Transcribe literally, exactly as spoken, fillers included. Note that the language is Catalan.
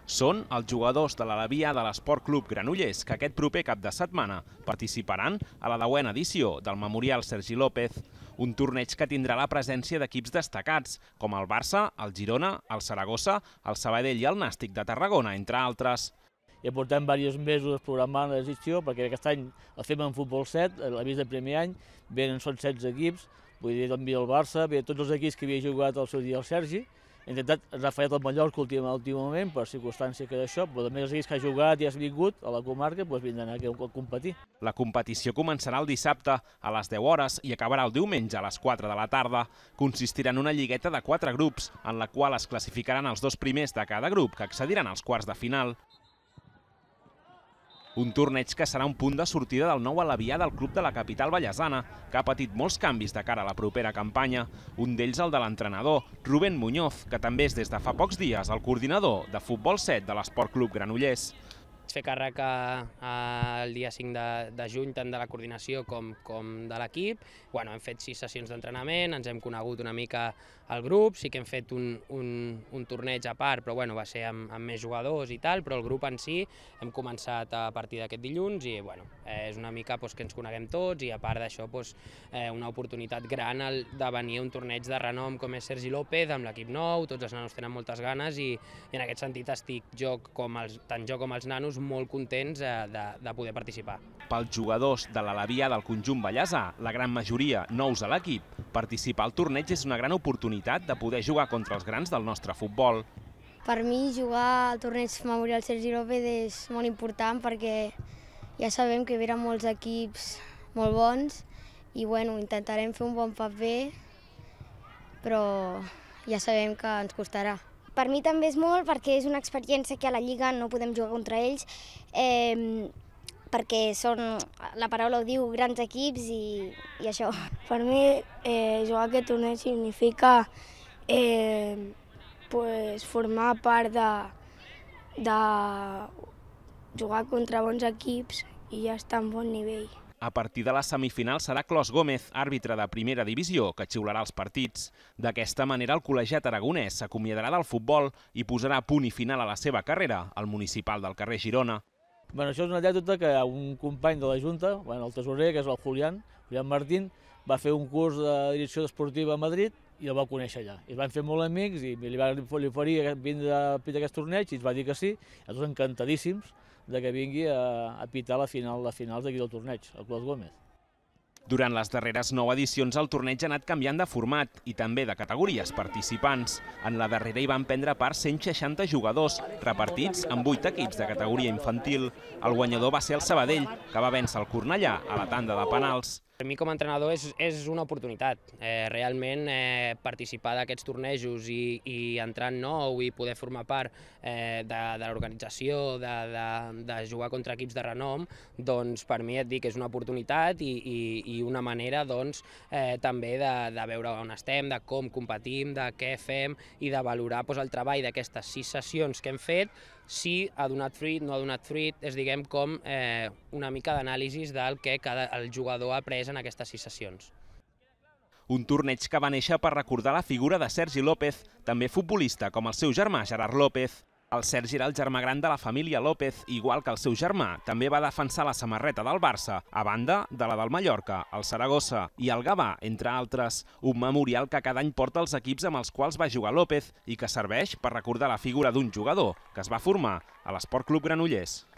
Són els jugadors de l'Alevia de l'Esport Club Granollers que aquest proper cap de setmana participaran a la deuena edició del Memorial Sergi López, un torneig que tindrà la presència d'equips destacats, com el Barça, el Girona, el Saragossa, el Sabadell i el Nàstic de Tarragona, entre altres. Ja portem diversos mesos programant l'edició, perquè aquest any el fem en futbol set, l'avís del primer any, venen són setze equips, vull dir, també el Barça, ve tots els equips que havia jugat al seu dia el Sergi. He intentat, ens ha fallat el Mallorca últimament, per circumstància que d'això, però també els equips que ha jugat i has vingut a la comarca doncs vindran aquí a competir. La competició començarà el dissabte a les deu hores i acabarà el diumenge a les quatre de la tarda. Consistirà en una lligueta de quatre grups, en la qual es classificaran els dos primers de cada grup, que accediran als quarts de final. Un torneig que serà un punt de sortida del nou Alevià del club de la capital vallesana, que ha patit molts canvis de cara a la propera campanya. Un d'ells el de l'entrenador, Rubén Muñoz, que també és des de fa pocs dies el coordinador de futbol set de l'Esport Club Granollers. Fer càrrec el dia cinc de juny tant de la coordinació com de l'equip. Hem fet sis sessions d'entrenament, ens hem conegut una mica el grup, sí que hem fet un torneig a part, però va ser amb més jugadors i tal, però el grup en si hem començat a partir d'aquest dilluns i és una mica que ens coneguem tots i a part d'això una oportunitat gran de venir a un torneig de renom com és Sergi López amb l'equip nou, tots els nanos tenen moltes ganes i en aquest sentit estic tant jo com els nanos molt contents de poder participar. Pels jugadors de l'Alevia del conjunt vallesà, la gran majoria nous a l'equip, participar al torneig és una gran oportunitat de poder jugar contra els grans del nostre futbol. Per mi jugar al torneig Memorial Sergi López és molt important perquè ja sabem que venen molts equips molt bons i bueno, intentarem fer un bon paper, però ja sabem que ens costarà. Per mi també és molt perquè és una experiència que a la Lliga no podem jugar contra ells, eh, perquè són, la paraula ho diu, grans equips i, i això. Per mi eh, jugar a aquest torneig significa eh, pues, formar part de, de jugar contra bons equips i ja estar en bon nivell. A partir de la semifinal serà Clos Gómez, àrbitre de primera divisió, que xiularà els partits. D'aquesta manera, el col·legiat aragonès s'acomiadarà del futbol i posarà punt i final a la seva carrera al municipal del carrer Girona. Bueno, això és una anècdota que un company de la Junta, bueno, el tesorer, que és el Julián, Julián Martín, va fer un curs de direcció esportiva a Madrid i el va conèixer allà. I es van fer molt amics i li va oferir vindre a pitar aquest torneig i ens va dir que sí, tots encantadíssims de que vingui a pitar la final de finals d'aquí del torneig, el Clos Gómez. Durant les darreres nou edicions el torneig ha anat canviant de format i també de categories participants. En la darrera hi van prendre part cent seixanta jugadors, repartits en vuit equips de categoria infantil. El guanyador va ser el Sabadell, que va vèncer el Cornellà a la tanda de penals. Per mi com a entrenador és una oportunitat, realment participar d'aquests tornejos i entrar en nou i poder formar part de l'organització, de jugar contra equips de renom, doncs per mi et dic que és una oportunitat i una manera també de veure on estem, de com competim, de què fem i de valorar el treball d'aquestes sis sessions que hem fet, si ha donat fruit, no ha donat fruit, és diguem com una mica d'anàlisi del que el jugador ha après en aquestes sis sessions. Un torneig que va néixer per recordar la figura de Sergi López, també futbolista com el seu germà Gerard López. El Sergi era el germà gran de la família López, igual que el seu germà, també va defensar la samarreta del Barça, a banda de la del Mallorca, el Saragossa i el Gavà, entre altres. Un memorial que cada any porta els equips amb els quals va jugar López i que serveix per recordar la figura d'un jugador que es va formar a l'Esport Club Granollers.